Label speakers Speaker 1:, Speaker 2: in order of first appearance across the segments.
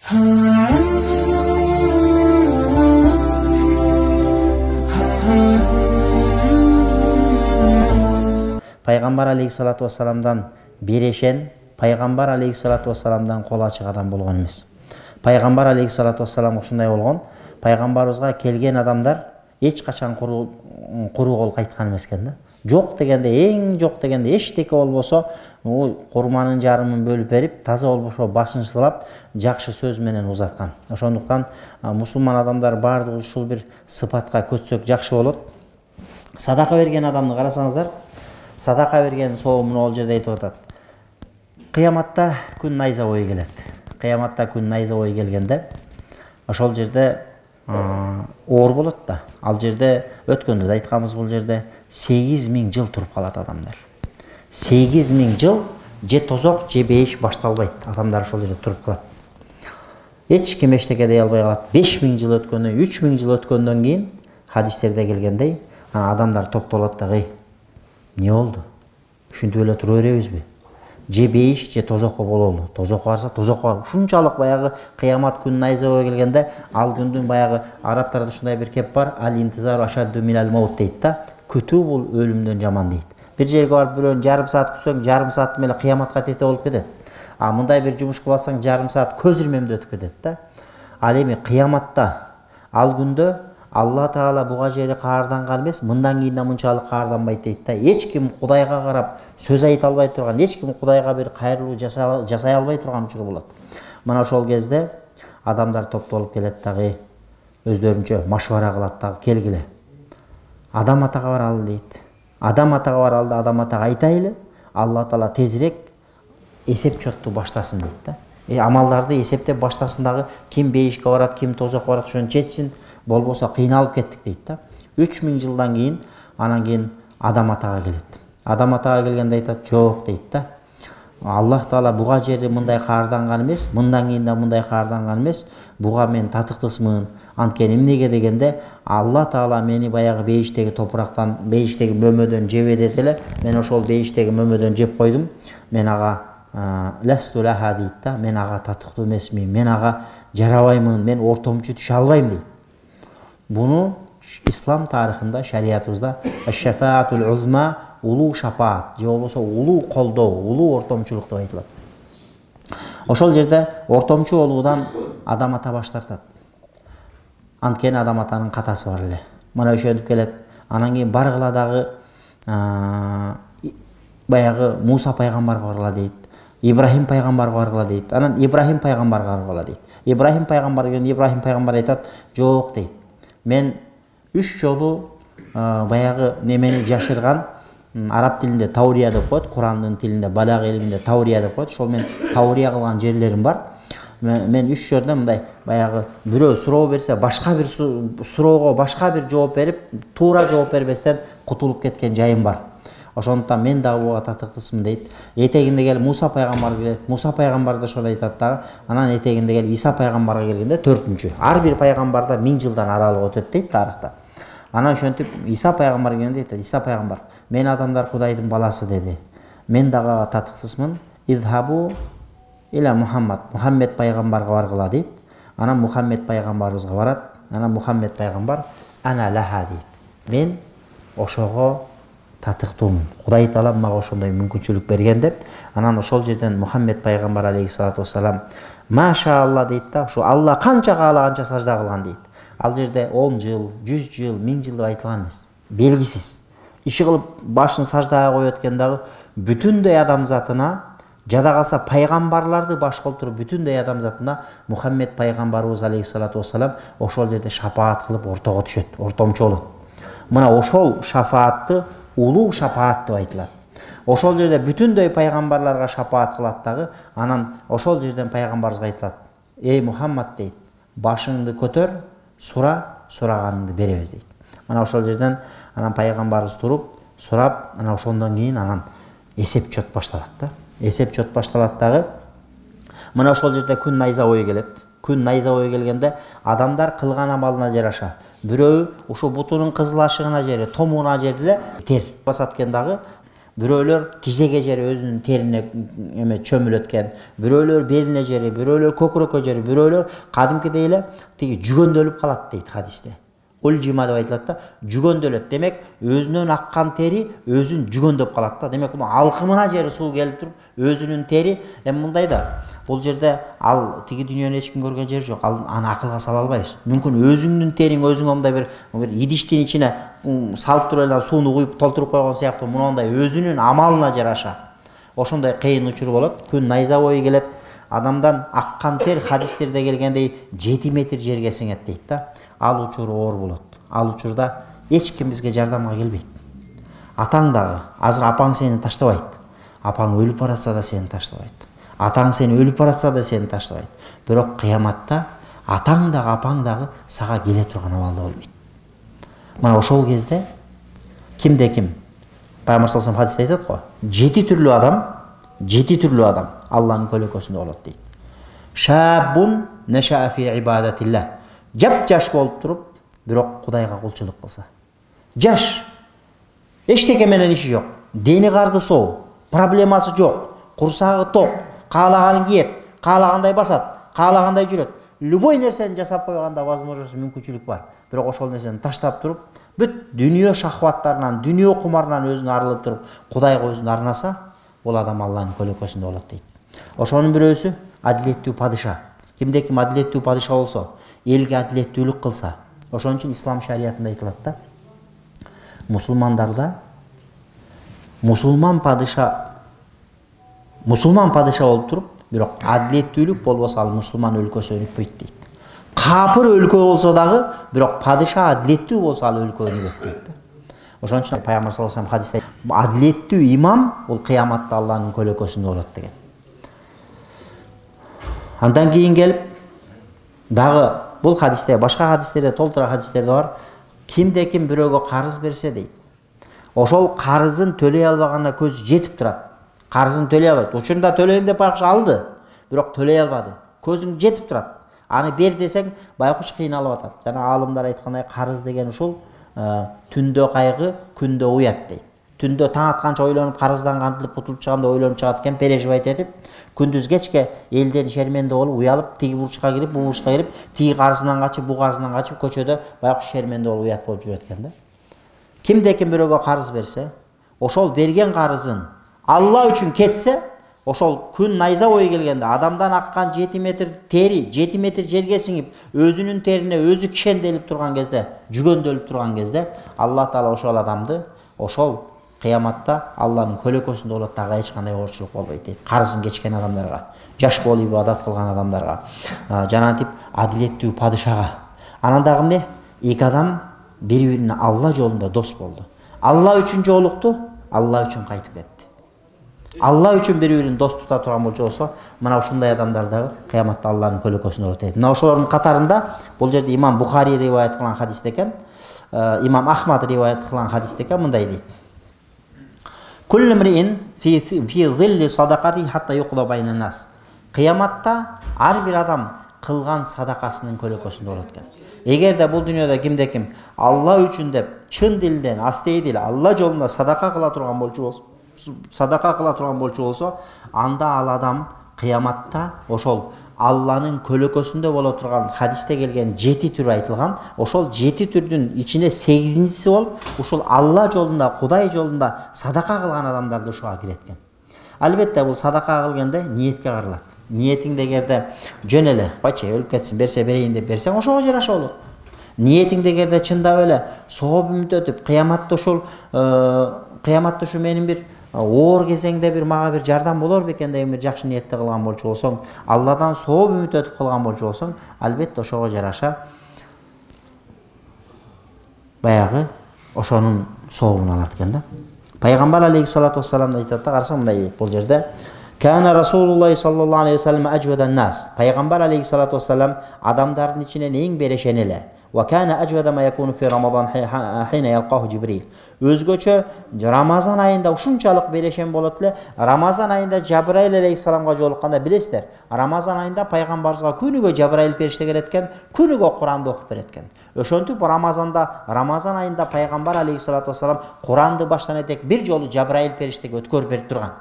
Speaker 1: Пайгамбар алейхиссалату вассаламдан берешен, пайгамбар алейхиссалату вассаламдан кол ачык адам болгон эмес. Пайгамбар алейхиссалату вассалам ушундай болгон. Пайгамбарыбызга келген адамдар эч качан куру кол кайткан эмес экен да. Жок дегенде, эң жок дегенде эчтеке болбосо, курманын жарымын бөлүп берип, таза болбошо башын сылап, жакшы сөз менен узаткан. Ошондуктан мусулман адамдар баардыгы ушул бир сыпатка көтсөк жакшы болот. Садака берген адамды карасаңыздар, садака берген соомун ол жерде айтып атат. Кыяматта күн найза бою келет. Кыяматта күн найза бою келгенде, ошол жерде оор болот да. Ал жерде өткөндө да айтканбыз, бул жерде 8000 жыл туруп калат адамдар. 8000 жыл же тозок же бейиш башталбайт. Адамдар ошол жерде туруп калат. Эч ким эчтеке дей албай калат. 5000 жыл өткөндөн, 3000 жыл өткөндөн кийин хадистерде келгендей, адамдар топтолот да, не болду? Ушинтип эле тура беребизби? Же бейиш же тозокко бололу. Тозокко барса, тозокко. Ушунчалык баягы кыямат күн найза бою келгенде, ал күндүн баягы арабтарда ушундай бир кеп бар, ал-интизару ашадду минал маут дейт да. Күтүү бул өлүмдөн жаман дейт. Бир жерге барып бирөөнү жарым саат күтсөң, жарым саат менен кыяматка тете болуп кетет. Мындай бир жумуш кылып атсаң, жарым саат көз ирмемде өтүп кетет да. Ал эми кыяматта, ал күндө Алла Таала буга жери каарданган эмес, мындан кийин да мынчалык каарданбайт дейт да. Эч ким Кудайга карап сөз айта албай турган, эч ким Кудайга бир кайрылуу жасай албай турган учур болот. Мына ошол кезде адамдар топтолуп келет дагы, өздөрүнчө машвара кылат дагы, келгиле. Адам атага баралы дейт. Адам атага баралы да, адам атага айтайлы, Алла Таала тезирээк эсеп чотту баштасын дейт да. Амалдарды эсептеп баштасын дагы, ким бейишке барат, ким тозокко барат, ошону жетсин. Болбосо кыйналып кеттик дейт да. 3000 жылдан кийин, анан кийин адам атага келет. Адам атага келгенде айтат, жок дейт да. Аллах Таала буга жери мындай каарданган эмес, мындан кийин да мындай каарданган эмес. Буга мен татыктысмын. Анткени эмнеге дегенде, Алла Таала мени баягы бейиштеги топурактан, бейиштеги мөмөдөн жебедет эле. Мен ошол бейиштеги мөмөдөн жеп койдум. Мен ага ласту лаха дейт да. Мен ага татыктуу эмесмин. Мен ага жарабаймын. Мен ортомчу түшө албайм дейт. Буну ислам тарыхында, шариятыбызда аш-шафаатул узма, улуу шафаат, же болбосо улуу колдоо, улуу ортомчулук деп айтылат. Ошол жерде ортомчу болуудан адам ата баш тартат. Анткени адам атанын катасы бар эле. Мына ошентип келет. Анан кийин баргыла дагы баягы Муса пайгамбарга баргыла дейт. Ибрахим пайгамбарга баргыла дейт. Анан Ибрахим пайгамбарга баргыла дейт. Ибрахим пайгамбар келген, Ибрахим пайгамбар айтат, жок дейт. Мен 3 жолу баягы немени жашырган, араб тилинде таурия деп коет, Курандын тилинде, балаг илиминде таурия деп коет. Ошол мен таурия кылган жерлерим бар. Мен 3 жерде мындай баягы бирөө суроо берсе, башка бир суроого башка бир жооп берип, туура жооп бербестен кутулуп кеткен жайым бар. Ошондуктан мен дагы буга татыктысмын дейт. Этегинде келип Муса пайгамбар келет. Муса пайгамбар да ошону айтат дагы. Анан этегинде келип Иса пайгамбарга келгенде 4-чү. Ар бир пайгамбарда 1000 жылдан аралык өтөт дейт тарыхта. Анан ошентип Иса пайгамбар келгенде айтат, Иса пайгамбар, мен адамдар Кудайдын баласы деди. Мен дагы татыксызмын. Изхабу иля Мухаммад. Мухаммед пайгамбарга баргыла дейт. Анан Мухаммед пайгамбарыбызга барат. Анан Мухаммед пайгамбар ана лаха дейт. Мен ошого татыктуумун. Кудай Таала мага ошондой мүмкүнчүлүк берген деп, анан ошол жерден Мухаммед пайгамбар алейхиссалату вассалам машаалла дейт да, ушу Алла канча каалаганча сажда кылган дейт. Ал жерде 10 жыл, 100 жыл, 1000 жыл деп айтылган эмес. Белгисиз. Иши кылып башын саждага коет экен дагы, бүтүндөй адамзатына, жада калса пайгамбарларды баш кылып туруп бүтүндөй адамзатына Мухаммед пайгамбарыбыз алейхиссалату вассалам ошол жерде шафаат кылып ортого түшөт, ортомчу болот. Мына ошол шафаатты улуу шафаат деп айтылат. Ошол жерде бүтүндөй пайгамбарларга шафаат кылат дагы, анан ошол жерден пайгамбарыбызга айтылат. Эй Мухаммад дейт, башыңды көтөр, сураганыңды беребиз дейт. Мына ошол жерден анан пайгамбарыбыз туруп, сурап, анан ошондон кийин анан эсеп чот башталат да. Эсеп чот башталат дагы. Мына ошол жерде күн найза бою келет. Күн найза бою келгенде адамдар кылган амалына жараша. Бирөө ушу бутунун кызылашыгына жери, томуна жери эле тер басат экен дагы. бирөөлөр тизеге жери өзүнүн терине эме чөмүлөткөн, бирөөлөр белине жери, бирөөлөр көкүрөккө жери, бирөөлөр кадимкидей эле тиги жүгөндөлүп калат дейт хадисте. Ульжима деп айтылат да, жүгөндөлөт. Демек, өзүнөн аккан тери өзүн жүгөндөп калат да. Демек, муну алкымына жери суу келип туруп, өзүнүн тери мындай да. Бул жерде ал тиги дүйнөнү эч ким көргөн жери жок. Аны акылга сала албайбыз. Мүмкүн өзүңдүн териң өзүңө мындай бир идиштин ичине салып туруп эле сууну куюп толтуруп койгон сыяктуу мындай өзүнүн амалына жараша ошондой кыйын учур болот. Күн найза бою келет. Адамдан аккан тер хадистерде келгендей 7 метр жерге сиңет дейт да. Ал учур оор болот. Ал учурда эч ким бизге жардамга келбейт. Атаң дагы, азыр апаң сени таштабайт. Апаң өлүп баратса да сени таштабайт. Атаң сени өлүп баратса да сени таштабайт. Бирок кыяматта атаң дагы, апаң дагы сага келе турган абалда болбойт. Мына ошол кезде кимде ким? Пайгамбар саллаллаху алейхи хадисте айтат го, 7 түрлүү адам Аллахнын көлөкөсүндө болот дейт. Шабун наша фи ибадатилlah. Жап-жаш болуп туруп, бирок Кудайга кулчулук кылса. Жаш. Эчтеке менен иши жок. Дени карды соо, проблемасы жок, курсагы ток, каалаганын кийет, каалагандай басат, каалагандай жүрөт. Любой нерсени жасап койганда возможность, мүмкүнчүлүк бар. Бирок ошол нерсени таштап туруп, бүт дүйнө шахваттарынан, дүйнө кумарынан өзүн арылып туруп, Кудайга өзүн арнаса, бул адам Аллахнын көлөкөсүндө болот дейт. Ошонун бирөөсү адилеттүү падыша. Кимде ким адилеттүү падыша болсо, элге адилеттүүлүк кылса, ошон үчүн ислам шариятында айтылат да. Мусулмандарда мусулман падыша болуп туруп, бирок адилеттүүлүк болбосо ал мусулман өлкөсү өнүкпөйт дейт. Капыр өлкө болсо дагы, бирок падыша адилеттүү болсо ал өлкө өнүгөт дейт. Ошон үчүн Пайгамбар саллаллаху алейхи хадисте адилеттүү имам бул кыяматта Аллахнын көлөкөсүндө болот деген. Андан кийин келип дагы бул хадисте, башка хадистерде, толтура хадистерде бар. Кимде ким бирөөгө карыз берсе дейт. Ошол карызын төлөй албаганына көзү жетип турат. Карызын төлөй албайт. Учурунда төлөйм деп алды, бирок төлөй албады. Көзүң жетип турат. Аны бер десең, байкуш кыйналып атат. Жана аалымдар айткандай карыз деген ушул түндө кайгы, күндө уят дейт. Түндө таң атканча ойлонуп, карыздан кантип кутулуп чыгам деп ойлонуп чыгат экен, переживать этип, күндүз кечке элден шерменде болуп, уялып, тиги бурчка кирип, бу бурчка кирип, тиги карызынан качып, бу карызынан качып, көчөдө байкуш шерменде болуп, уят болуп жүрөт экен да. Кимде ким бирөөгө карыз берсе, ошол берген карызын Алла үчүн кетсе, ошол күн найза бою келгенде адамдан аккан 7 метр тери, 7 метр жерге сиңип, өзүнүн терине өзү кишенделип турган кезде, жүгөндөлүп турган кезде, Алла Таала ошол адамды ошол кыяматта Аллахнын көлөкөсүндө болот, дагы эч кандай оорчулук болбойт дейт. Карызын кечкен адамдарга, жаш болуп ибадат кылган адамдарга, жанагынтип адилеттүү падышага. Анан дагы эмне? Эки адам бири-бирине Алла жолунда дос болду. Алла үчүн жолукту, Алла үчүн кайтып кетти. Алла үчүн бири-бирин дос тута турган болсо, мына ушундай адамдар дагы кыяматта Аллахнын көлөкөсүндө болот дейт. Мына ошолордун катарында бул жерде имам Бухари риваят кылган хадисте экен, имам Ахмад риваят кылган хадисте экен, мындай дейт. Куллу мриин фи зилли садакати хатта юқда байнан нас. Кыяматта ар бир адам кылган садакасынын көлөкөсүндө болот экен. Эгерде бул дүйнөдө кимде ким Алла үчүн деп чын дилден, астейдил Алла жолунда садака кыла турган болчу болсо, анда ал адам кыяматта ошол Алланын көлөкөсүндө боло турган хадисте келген 7 түр айтылган, ошол 7 түрдүн ичине 8-инчиси болуп, ушул Алла жолунда, Кудай жолунда садака кылган адамдарды ушуга кирет экен. Албетте бул садака кылганда ниетке каралат. Ниетиңде эгерде жөн эле, бачы өлүп кетсин, берсе берейин деп берсең, ошого жараша болот. Ниетиңде эгерде чындап эле сооп үмүт өтүп, кыяматта ушу менин бир оор кезеңде бир мага бир жардам болор бекен деген бир жакшы ниетте кылган болчу болсоң, Алладан сооп үмүт өтүп кылган болчу болсоң, албетте ошого жараша баягы ошонун сообун алат экен да. Пайгамбар алейхиссалату вассалам айтат да, карасаң мындай дейт бул жерде. Кана Расулуллах саллаллаху алейхи вассалам ажвадан нас. Пайгамбар алейхиссалату вассалам адамдардын ичинен эң берешен эле. وكان أجود ما يكون في رمضان حين يلقاه جبريل. Өзгөчө Рамазан айында ушунчалык берешен болот эле. Рамазан айында Жабраил алейхиссаламга жолукканда билесиздер. Рамазан айында пайгамбарыбызга күнүгө Жабраил периште келет экен, күнүгө Куранды окуп берет экен. Ошентип Рамазан айында пайгамбар алейхиссалату вассалам Куранды баштан этек бир жолу Жабраил периштеге өткөрүп берип турган.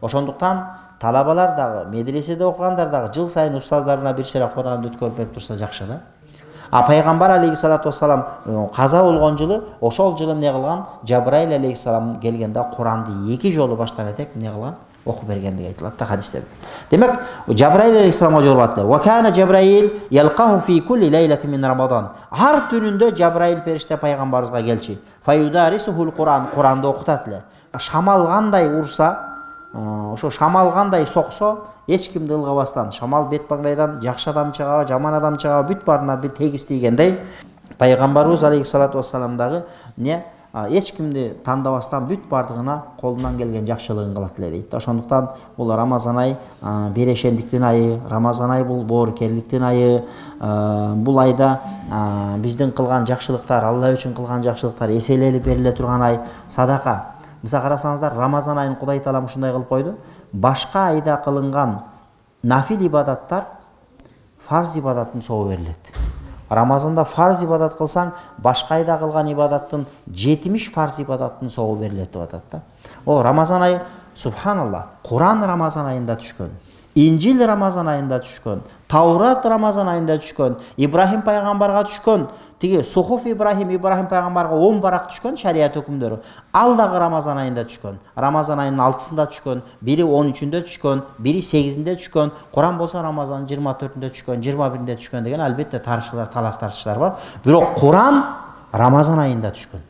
Speaker 1: Ошондуктан талабалар дагы, медреседе окугандар дагы жыл сайын устаздарына бир шере Куранды өткөрүп берип турса жакшы да. А пайгамбар алейхиссалату вассалам каза болгон жылы, ошол жылы эмне кылган? Жабраил алейхиссалам келгенде Куранды 2 жолу баштан этек эмне кылган? Окуп берген деп айтылат да хадисте. Демек, Жабраил алейхиссаламга жолугат эле. Ва кана Жабраил ялқаху фи кулли лейлатин мин Рамадан. Ар түнүндө Жабраил периште пайгамбарыбызга келчи. Фаюдарисухул Куран, Куранды окутат эле. Шамал кандай урса, ошо шамал кандай соксо, эч кимди ылгабастан, шамал бет маңдайдан жакшы адам чыгабы, жаман адам чыгабы, бүт баарына бир тегиз тийгендей, пайгамбарыбыз алейхиссалату вассалам дагы эч кимди тандабастан бүт бардыгына колунан келген жакшылыгын кылат эле дейт. Ошондуктан бул Рамазан ай берешендиктин айы, Рамазан ай бул боорукерликтин айы. Бул айда биздин кылган жакшылыктар, Алла үчүн кылган жакшылыктар эселелип бериле турган ай. Садака. Мисалы карасаңыздар, Рамазан айын Кудай Таалам ушундай кылып койду. Башка айда кылынган нафил ибадаттар фарз ибадаттын собу берилет. Рамазанда фарз ибадат кылсаң, башка айда кылган ибадаттын 70 фарз ибадаттын собу берилет деп атат да. Рамазан айы, субханалла, Куран Рамазан айында түшкөн. Инжил Рамазан айында түшкөн, Таурат Рамазан айында түшкөн, Ибрахим пайгамбарга түшкөн, тиги Сухуф Ибрахим пайгамбарга 10 барак түшкөн шарият өкүмдөрү. Ал дагы Рамазан айында түшкөн. Рамазан айынын 6-сында түшкөн, бири 13-үндө түшкөн, бири 8-inde түшкөн, Куран болсо Рамазанын 24-үндө түшкөн, 21-inde түшкөн деген албетте тарыхчылар, талаш тартыштар бар. Бирок Куран Рамазан айында түшкөн.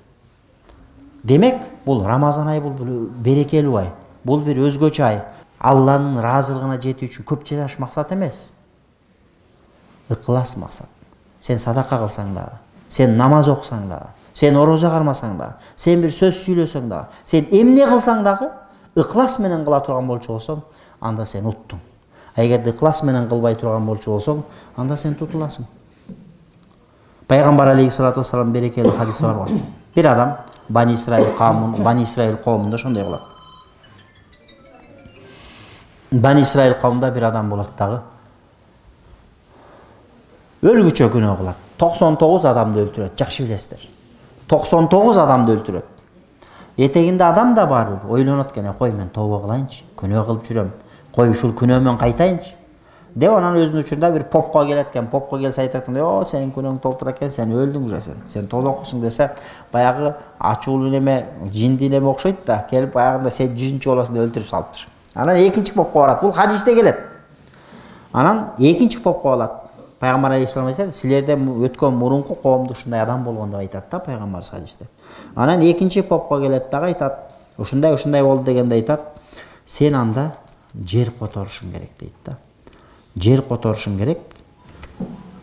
Speaker 1: Демек, бул Рамазан айы бул берекелүү ай. Бул бир өзгөчө ай. Алланын разылыгына жетүү үчүн көп жаш максат эмес. Ыклас максат. Сен садака кылсаң дагы, сен намаз окусаң дагы, сен орозо кармасаң дагы, сен бир сөз сүйлөсөң дагы, сен эмне кылсаң дагы ыклас менен кыла турган болчу болсоң, анда сен уттуң. Эгерде ыклас менен кылбай турган болчу болсоң, анда сен тутуласың. Пайгамбар алейхиссалату вассалам берекелүү хадиси бар. Бир адам Бани Исраил коомунда ошондой кылат. Бани Исраил коомунда бир адам болот дагы. Өлгүчө күнөө кылат. 99 адамды өлтүрөт. Жакшы билесиздер. 99 адамды өлтүрөт. Этегинде адам да бар. Ойлонот экен, кой мен тооба кылайынчы, күнөө кылып жүрөм. Кой ушул күнөөмөн кайтайынчы. Деп анан өзүнүн учурунда бир попко келет экен. Попко келсе айтат экен, "О, сенин күнөөң толтура экен, сен өлдүң уже сен толокусуң" десе, баягы ачуулуу неме, жинди неме окшойт да, келип баягында сен 100-чү болосуң деп өлтүрүп салыптыр. Анан экинчи попко барат. Бул хадисте келет. Анан экинчи попко алат. Пайгамбар алейхиссалам айтат, силерден өткөн мурунку коомдо ушундай адам болгон деп айтат да пайгамбар хадисте. Анан экинчи попко келет дагы айтат, ушундай болду дегенде айтат, сен анда жер которушуң керек дейт да. Жер которушуң керек.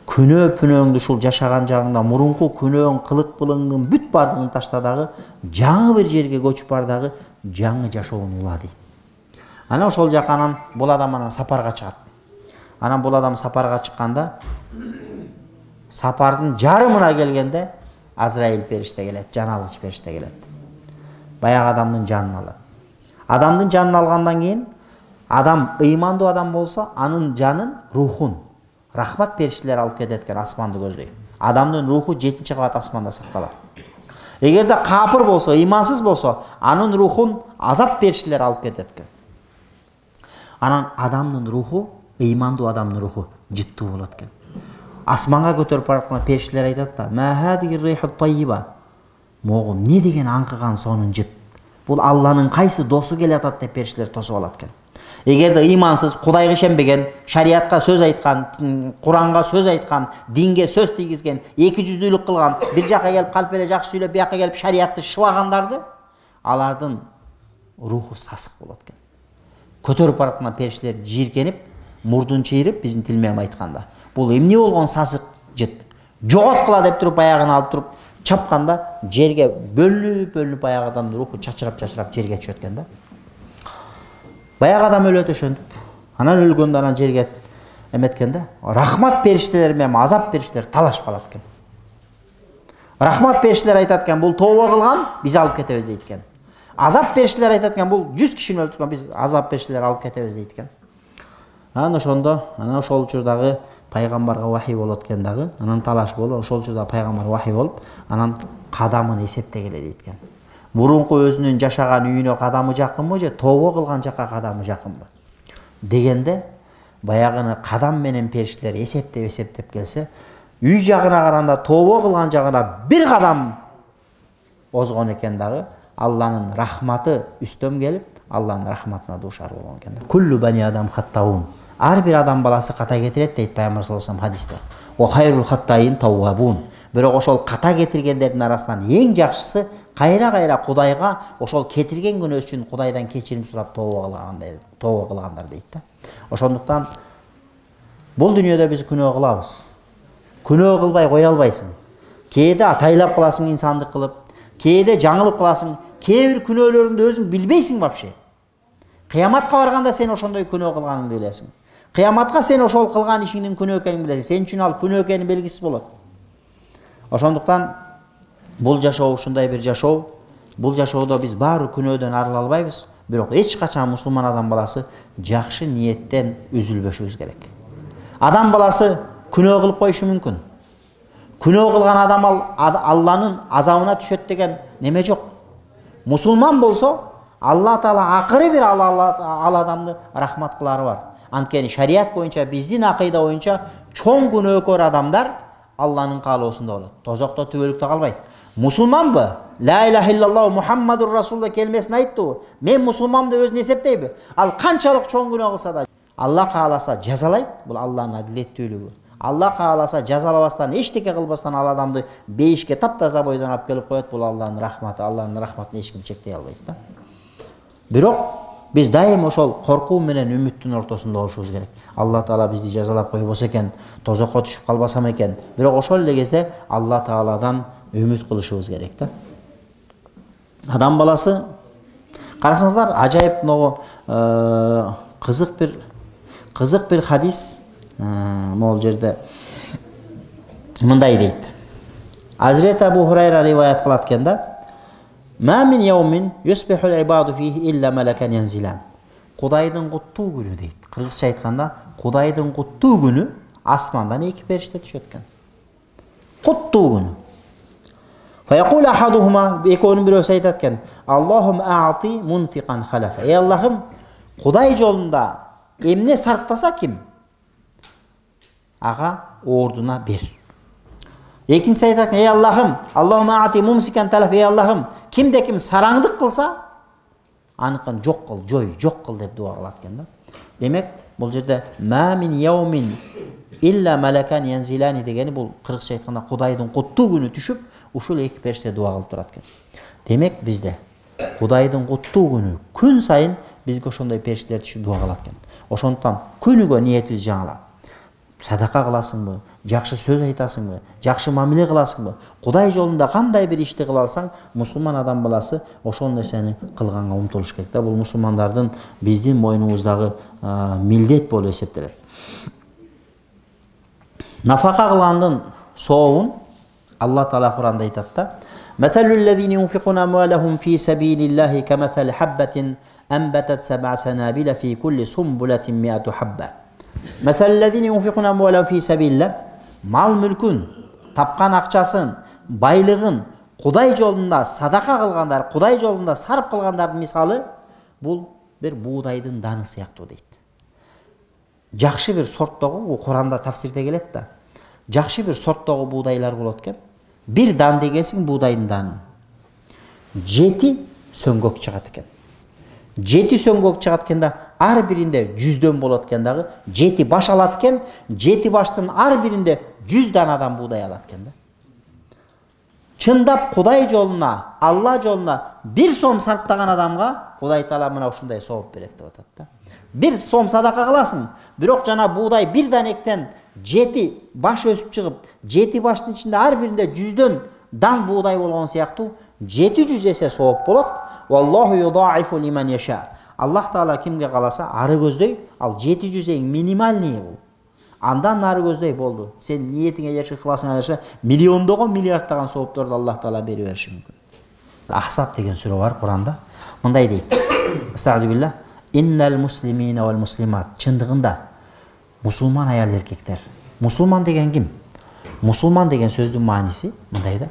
Speaker 1: Күнөө-пүнөөңдү ушул жашаган жагыңда мурунку күнөөң, кылык былыңдын бүт бардыгын ташта дагы жаңы бир жерге көчүп бар дагы жаңы жашоону ула дейт. Анан ошол жака анан бул адам анан сапарга чыгат. Анан бул адам сапарга чыкканда сапардын жарымына келгенде Азраил периште келет, жан алгыч периште келет. Баягы адамдын жанын алат. Адамдын жанын алгандан кийин адам ыймандуу адам болсо, анын жанын, рухун рахмат периштелер алып кетет экен асманды көздөй. Адамдын руху 7-чи кабат асманда сакталат. Эгерде капыр болсо, ыймансыз болсо, анын рухун азап периштелер алып кетет экен. Анан адамдын руху, ыймандуу адамдын руху жыттуу болот экен. Асманга көтөрүп бараткан периштелер айтат да, "Ма хадиги риху тайиба." Могу не деген аңкыган сонун жыт. Бул Алланын кайсы досу келатат деп периштелер тосуп алат экен. Эгерде ыймансыз, Кудайга ишенбеген, шариатка сөз айткан, Куранга сөз айткан, динге сөз тийгизген, эки жүздүүлүк кылган, бир жака келип калп эле жакшы сүйлөп, бияка келип шариатты шыбагандарды, алардын руху сасык болот экен. Көтөрүп бараткан периштелер жийиркенип, мурдун чыйрып, биздин тил менен айтканда, бул эмне болгон сасык жыт. Жоgoткула деп туруп аягын алып туруп чапканда жерге бөлүнүп баягы адамдын руху чачырап жерге түшөт экен да. Баягы адам өлөт ошентип. Анан өлгөндө анан жерге эметкенде рахмат периштелер менен азап периштелер талашып калат экен. Рахмат периштелер айтат экен, бул тооба кылган, биз алып кетебиз дейт экен. Азап периштелер айтат экен, бул 100 кишини өлтүргөн, биз азап периштелер алып кетебиз дейт экен. Анан ошондо, ошол учурдагы пайгамбарга вахий болот экен дагы, анан талаш болуп, ошол учурда пайгамбар вахий болуп, анан кадамын эсептегиле дейт экен. Мурунку өзүнүн жашаган үйүнө кадамы жакынбы же тооба кылган жакка кадамы жакынбы дегенде, баягыны кадам менен периштелер эсептеп келсе, үй жагына караганда тооба кылган жагына бир кадам озгон экен дагы, Алланын рахматы үстөм келип, Алланын рахматына дуушар болгон экен. Куллу бани адам хаттаун. Ар бир адам баласы ката кетирет дейт Пайгамбар саллаллаху алейхи вассалам хадисте. Ва хайрул хаттаин таввабун. Бирок ошол ката кетиргендердин арасынан эң жакшысы кайра Кудайга ошол кетирген күнөө үчүн Кудайдан кечирим сурап тооба кылгандар дейт да. Ошондуктан бул дүйнөдө биз күнөө кылабыз. Күнөө кылбай кое албайсың. Кээде атайлап кыласың инсандык кылып, кээде жаңылып кыласың, кээ бир күнөөлөрүңдү өзүң билбейсиң вообще. Кыяматка барганда сен ошондой күнөө кылганыңды билесиң. Кыяматка сен ошол кылган ишиңдин күнөө экенин билесиң. Сен үчүн ал күнөө экени белгисиз болот. Ошондуктан бул жашоо ушундай бир жашоо. Бул жашоодо биз баары күнөөдөн арыла албайбыз, бирок эч качан мусулман адам баласы жакшы ниеттен үзүлбөшүбүз керек. Адам баласы күнөө кылып коюшу мүмкүн. Күнөө кылган адам Алланын азабына түшөт деген неме жок. Мусулман болсо, Алла Таала акыры бир ал адамды рахмат кылары бар. Анткени шарият боюнча, биздин акыйда боюнча чоң күнөөкөр адамдар Алланын каалоосунда болот. Тозокто түбөлүктө калбайт. Мусулманбы? Ла илаха иллаллаху Мухаммадур Расулуллах келмесин айтты. Мен мусулманмын деп өзүн эсептейби? Ал канчалык чоң күнөө кылса да, Алла кааласа жазалайт. Бул Алланын адилеттүүлүгү. Алла кааласа жазалабастан, эчтеке кылбастан ал адамды бейишке таптаза бойдон алып келип коет. Бул Алланын рахматы. Алланын рахматын эч ким чектей албайт да. Бирок биз дайым ошол коркуу менен үмүттүн ортосунда болушубуз керек. Алла Таала бизди жазалап койбосо экен, тозокко түшүп калбасам экен. Бирок ошол эле кезде Алла Тааладан үмүт кылышыбыз керек да. Адам баласы, карасаңыздар, ажайып могу кызык бир хадис могул жерде мындай дейт. Азирет Абу Хурайра риваят кылат экен да. Ма мин яумин юсбиху al-ibadu fihi illa malakan yanzilan. Кудайдын куттуу күнү дейт. Кыргызча айтканда, Кудайдын куттуу күнү асмандан эки периште түшөт экен. Куттуу күнү. Fa yaqulu ahaduhuma, экөөнүн бирөөсү айтат экен: Аллахум аати мунфиқан халафа. Ey Аллахым, Кудай жолунда эмне сарптаса ким? Ага ордуна бер. Экинчиси айтат: Ey Аллахым, Аллахум аати мумсикан талаф. Ey Аллахым, кимде ким сараңдык кылса, аныкын жок кыл, жок кыл деп дуа кылат экен да. Демек, бул жерде ма мин яумин илля малакан янзилани дегени бул кыргызча айтканда Кудайдын куттуу күнү түшүп, ушул эки периште дуа кылып турат экен. Демек, бизде Кудайдын куттуу күнү күн сайын бизге ошондой периштелер түшүп дуа кылат экен. Ошондуктан күнүгө ниетибизди жаңылап, садака кыласыңбы, жакшы сөз айтасыңбы, жакшы мамиле кыласыңбы, Кудай жолунда кандай бир ишти кыла алсаң, мусулман адам баласы ошол нерсени кылганга умтулуш керек да. Бул мусулмандардын биздин мойнубуздагы милдет болуп эсептелет. Нафака кылгандын сообун Алла Таала Куранда айтат да: "Маталул лазина юнфикуна амвалахум фи сабилиллахи каматали хаббатин анбатат саб'a санабила фи кулли сумбулатин ми'ату хабба." Масалul лазина юнфикуна амвалахум фи сабилилlah, мал мүлкүн, тапкан акчасын, байлыгын Кудай жолунда садака кылгандар, Кудай жолунда сарп кылгандардын мисалы бул бир буудайдын даны сыяктуу дейт. Жакшы бир сорттогу, Куранда тафсирде келет да. Жакшы бир сорттогу буудайлар болот экен. Bir дан дегесиң буудайдын данын. 7 сөңгөк чыгат экен. 7 сөңгөк чыгат экенде, ар биринде 100дөн болот экен дагы. 7 баш алат экен, 7 баштын ар биринде 100 данадан буудай алат экен да. Чындап Кудай жолуна, Алла жолуна 1 сом сарптаган адамга Кудай Таала мына ушундай сооп берет деп атат да. 1 сом садака кыласың, бирок жана буудай бир данектен 7 баш өсүп чыгып, 7 баштын ичинде ар биринде 100дөн дан буудай болгон сыяктуу 700 эсе сооп болот. Валлаху юдаифу лиман яша. Аллах Таала кимге каласа ары көздөй, ал 700 эң минимальный бул. Андан нары көздөй болду. Сен ниетиңе жашыл кыласың ажарса, миллиондогон миллиарддаган соопторду Аллах Таала берип бериши мүмкүн. Ахсаб деген сүрө бар Куранда. Мындай дейт. Астагфирулlah. Иннал муслимина вал муслимат. Чындыгында мусулман аял эркектер. Мусулман деген ким? Мусулман деген сөздүн мааниси мындай да.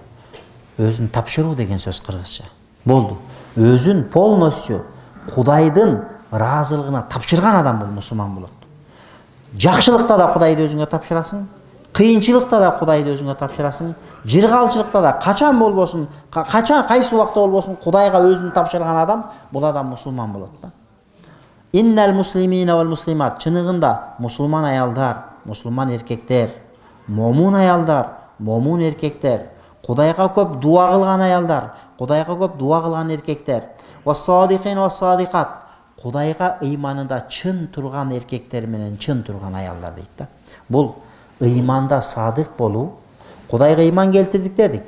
Speaker 1: Өзүн тапшыруу деген сөз кыргызча. Болду. Өзүн полностью Кудайдын ыраазылыгына тапшырган адам бул мусулман болот. Жакшылыкта да Кудайды өзүңө тапшырасың, кыйынчылыкта да Кудайды өзүңө тапшырасың, жыргалчылыкта да качан болбосун, кайсы убакта болбосун Кудайга өзүн тапшырган адам бул адам мусулман болот да. Иннал муслимина вал муслимат. Чыныгында мусулман аялдар, мусулман эркектер, момун аялдар, момун эркектер, Кудайга көп дуа кылган аялдар, Кудайга көп дуа кылган эркектер, вас-садикин вас-садикат. Кудайга ыйманында чын турган эркектер менен чын турган аялдар дейт да. Бул ыйманда садык болуу, Кудайга ыйман келтирдик дедик.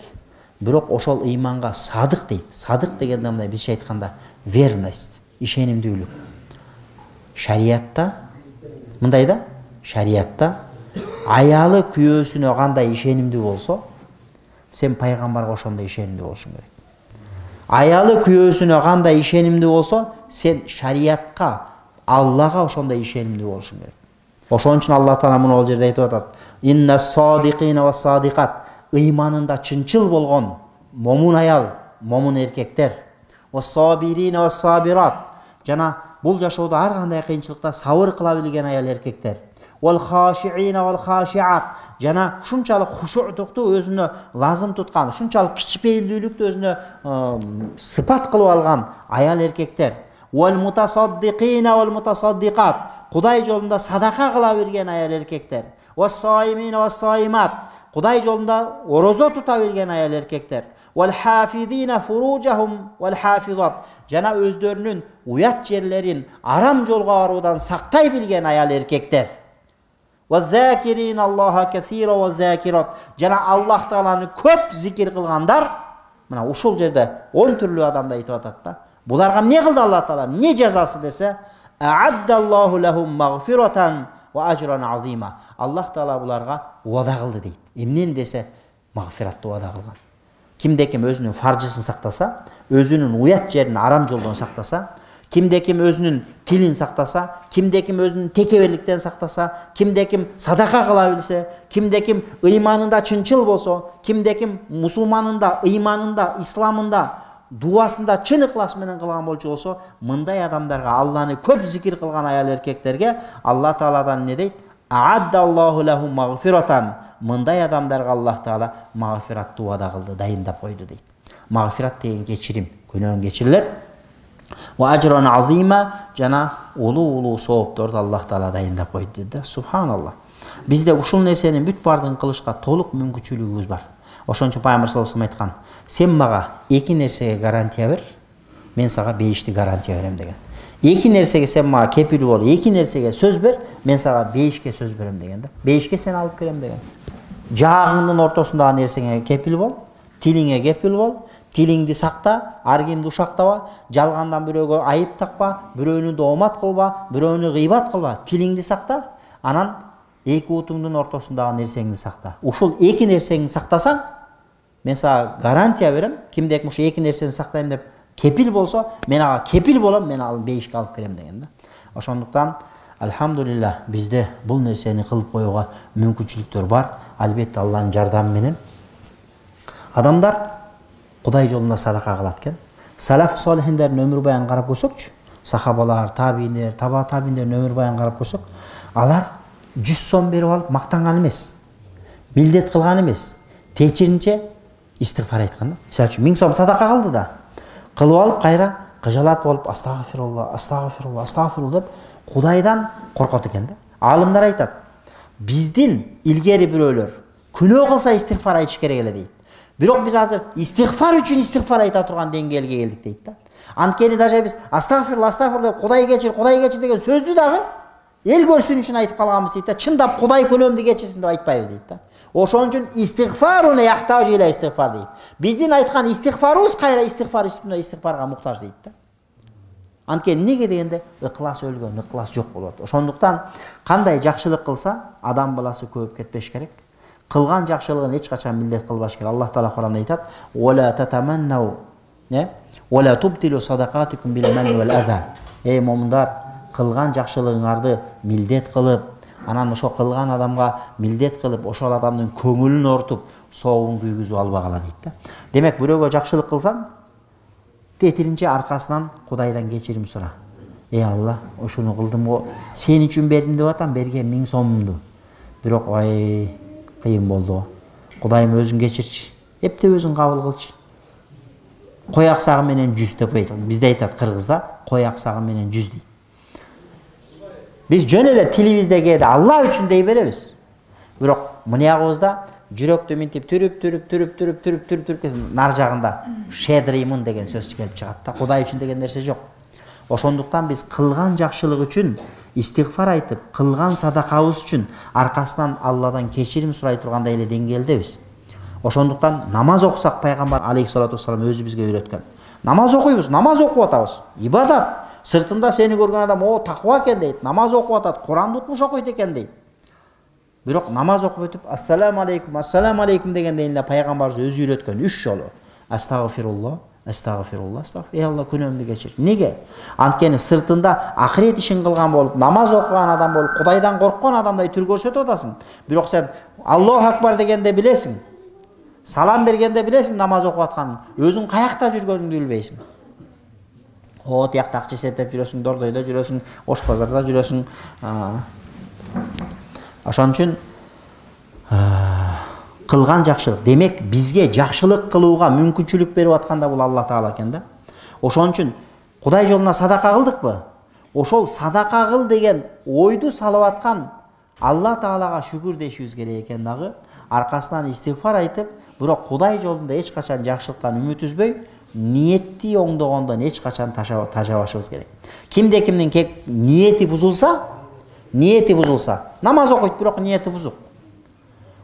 Speaker 1: Бирок ошол ыйманга садык дейт. Садык дегенде мындай бизче айтканда верность, ишенимдүүлүк. Шариятта мындай да, шариятта аялы күйөөсүнө кандай ишенимдүү болсо, сен пайгамбарга ошондой ишенимдүү болушуң керек. Аялы күйөөсүнө кандай ишенимдүү болсо, сен шариятка, Аллага ошондой ишенимдүү болушуң керек. Ошон үчүн Аллах Таала муну ол жерде айтып атат. Инна-садикина ва-садикат. Ыйманында чынчыл болгон момун аял, момун эркектер. Ва-сабирина ва-сабират. Жана бул жашоодо ар кандай кыйынчылыкта сабыр кыла билген аял эркектер. Вал-хашиина вал-хашиат. Жана ушунчалык хушуутукту өзүнө лазым туткан, ушунчалык кичпейилдүүлүктү өзүнө сыпат кылып алган аял эркектер. Вал-мутасаддикина вал-мутасаддикат. Кудай жолунда садака кыла берген аял эркектер. Вас-саимина вас-саимат. Кудай жолунда орозо тута берген аял эркектер. Вал-хафидина фуружахум вал-хафизат. Жана өздөрүнүн уят жерлерин арам жолго баруудан сактай билген аял эркектер. وَالذَّاكِرِينَ اللَّهَ كَثِيرًا وَالذَّاكِرَاتِ. Жана Аллах Тааланы көп зикир кылгандар, мына ушул жерде 10 түрлүү адамды айтып атат да. Буларга эмне кылды Аллах Таала? Эмне жазасы десе, а'аддаллаху лахум магфирatan ва ажран азима. Аллах Таала буларга убада кылды дейт. Эмнени десе, магфиратты убада кылган. Кимде-ким өзүнүн фаржысын сактаса, өзүнүн уят жерин арам жолдон сактаса, кимде-ким өзүнүн тилин сактаса, кимде-ким өзүнүн текеберликтен сактаса, кимде-ким садака кыла билсе, кимде-ким ыйманында чынчыл болсо, кимде-ким мусулманында, ыйманында, исламында, дуасында чын ыклас менен кылган болчу болсо, мындай адамдарга, Алланы көп зикир кылган аял эркектерге Аллах Тааладан эмне дейт? А'аддаллаху лахум магфирatan. Мындай адамдарга Аллах Таала магфиратты убада кылды, дайындап койду дейт. Магфират деген кечирим, күнөөң кечирилет. Ва ажран азима, жана улуу соопторду Аллах Таала дайындап койду да. Субханаллах. Бизде ушул нерсенин бүт бардыгын кылышка толук мүмкүнчүлүгүбүз бар. Ошон үчүн Пайгамбар саллаллаху алейхи айткан: "Сен мага эки нерсеге гарантия бер, мен сага бейишти гарантия берем" деген. Эки нерсеге сен мага кепил бол, эки нерсеге сөз бер, мен сага бейишке сөз берем деген да. Бейишке сен алып келем деген. Жаагыңдын ортосундагы нерсеңе кепил бол, тилиңе кепил бол. Тилиңди сакта, ар кимди ушактаба, жалгандан бирөөгө айып такпа, бирөөнү доомат кылба, бирөөнү гыйбат кылба. Тилиңди сакта, анан эки утуңдун ортосундагы нерсеңди сакта. Ушул эки нерсеңди сактасаң, мен сага гарантия берем, кимдеки ушу эки нерсени сактайм деп кепил болсо, мен ага кепил болом, мен ал бейишке алып келем деген да. Ошондуктан альхамдулилlah бизде бул нерсени кылып коюуга мүмкүнчүлүктөр бар. Албетте Алланын жардамы менен. Адамдар Кудай жолунда садака кылат экен. Салаф солихиндердин өмүр баянын карап көрсөкчү, сахабалар, табииндер, таба табииндердин өмүр баянын карап көрсөк, алар 100 сом берип алып мактанган эмес, милдет кылган эмес, течиринче истигфар айткан да. Мисалы үчүн 1000 сом садака кылды да, кылып алып кайра кыжалат болуп астагфирулла, астагфирулла, астагфирулла деп Кудайдан коркот экен да. Алымдар айтат, биздин илгери бирөөлөр күнөө кылса истигфар айтыш керек эле дейт. Бирок биз азыр истигфар үчүн истигфар айта турган деңгээлге келдик дейт да. Анткени даже биз астагфирулла, астагфирулла деп Кудай кечир деген сөздү дагы эл көрсүн үчүн айтып калганбыз дейт да. Чындап Кудай күнөөмдү кечирсин деп айтпайбыз дейт да. Ошон үчүн истигфарун яхтаж иля истигфар дейт. Биздин айткан истигфарыбыз кайра истигфар үстүнө истигфарга муктаж дейт да. Анткени эмнеге дегенде ыклас өлгөн, ыклас жок болот. Ошондуктан кандай жакшылык кылса адам баласы көбөп кетпеш керек. Кылган жакшылыгын эч качан милдет кылбаш керек. Аллах таала Куранда айтат: "Вала татаманнау, вала тубтилу садакатикум бил манни вал аза." Эй момундар, кылган жакшылыгыңарды милдет кылып, анан ошо кылган адамга милдет кылып, ошол адамдын көңүлүн ортуп, соогун күйгүзүп албагыла дейт да. Демек, бирөөгө жакшылык кылсаң, тетиринче аркасынан Кудайдан кечирим сура. Эй Алла, ошону кылдым го, сен үчүн бердим деп атам, берген 1000 сомумду. Бирок кыйын болду го. Кудайым өзүң кечирчи. Эптеп өзүң кабыл кылчы. Кой аксагы менен 100 деп айтат. Бизде айтат кыргызда, кой аксагы менен 100 дейт. Биз жөн эле тилибизде кээде Алла үчүн дей беребиз. Бирок мынягыбызда жүрөктү минтип түрүп нар жагында шедримын деген сөз келип чыгат да. Кудай үчүн деген нерсе жок. Ошондуктан биз кылган жакшылык үчүн истигфар айтып, кылган садакабыз үчүн аркасынан Алладан кечирим сурай тургандай эле деңгээлдебиз. Ошондуктан намаз окусак пайгамбар алейхиссалату вассалам өзү бизге үйрөткөн. Намаз окуйбуз, намаз окуп атабыз. Ибадат. Сыртында сени көргөн адам, о, таква экен дейт. Намаз окуп атат, Куранды утмуш окуйт экен дейт. Бирок намаз окуп өтүп ассаламу алейкум дегенде эле пайгамбарыбыз өзү үйрөткөн 3 жолу. Астагфируллах, астагфируллах, эй Алла күнөөмдү кечир. Неге? Анткени сыртында акырет ишин кылган болуп, намаз окуган адам болуп, Кудайдан корккон адамдай түр көрсөтүп атасың. Бирок сен Аллаху акбар дегенде билесиң. Салам бергенде билесиң намаз окуп атканын. Өзүң каякта жүргөнүңдү билбейсиң. О, тиякта акча эсептеп жүрөсүң, дордойдо жүрөсүң, Ош базарда жүрөсүң. Ошон үчүн кылган жакшылык, демек бизге жакшылык кылууга мүмкүнчүлүк берип аткан да бул Алла Таала экен да. Ошон үчүн Кудай жолуна садака кылдыкпы? Ошол садака кыл деген ойду салып аткан Алла Таалага шүгүр дешибиз керек экен дагы. Аркасынан истигфар айтып, бирок Кудай жолунда эч качан жакшылыктан үмүт үзбөй, ниетти оңдогондон эч качан тажабашыбыз керек. Кимде-кимдин ниети бузулса, намаз окуйт, бирок ниети бузук.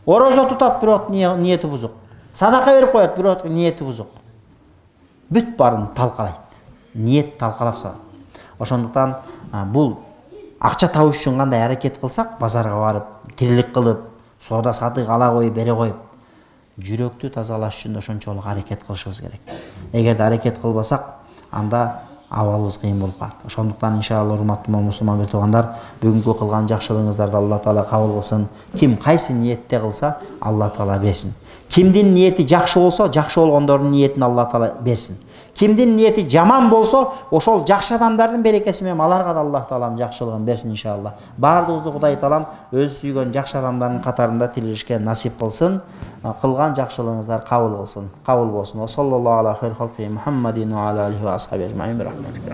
Speaker 1: Орозо тутат, бирок ниети бузук. Садака берип коет, бирок ниети бузук. Бүт барын талкалайт. Ниет талкалап салат. Ошондуктан бул акча табыш үчүн кандай аракет кылсак, базарга барып, тирилик кылып, соода сатык ала коюп, бере коюп, жүрөктү тазалаш үчүн ошончолук аракет кылышыбыз керек. Эгерде аракет кылбасак, анда абалыбыз кыйын болуп калат. Ошондуктан иншалла урматтуу мусулман туугандар, бүгүнкү кылган жакшылыгыңыздарды Алла Таала кабыл кылсын. Ким кайсы ниетте кылса, Алла Таала берсин. Кимдин ниети жакшы болсо, жакшы болгондордун ниетин Алла Таала берсин. Кимдин ниети жаман болсо, ошол жакшы адамдардын берекеси менен аларга да Алла Таалам жакшылыгын берсин иншалла. Баардыгыбызды Кудай Таалам өз сүйгөн жакшы адамдардын катарында тирилишке насип кылсын. Кылган жакшылыгыңыздар кабыл кылсын. Кабыл болсун. Саллаллаху алейхи ва саллям Мухаммадин ва аля алихи ва асхаби ажмаин бирахматика.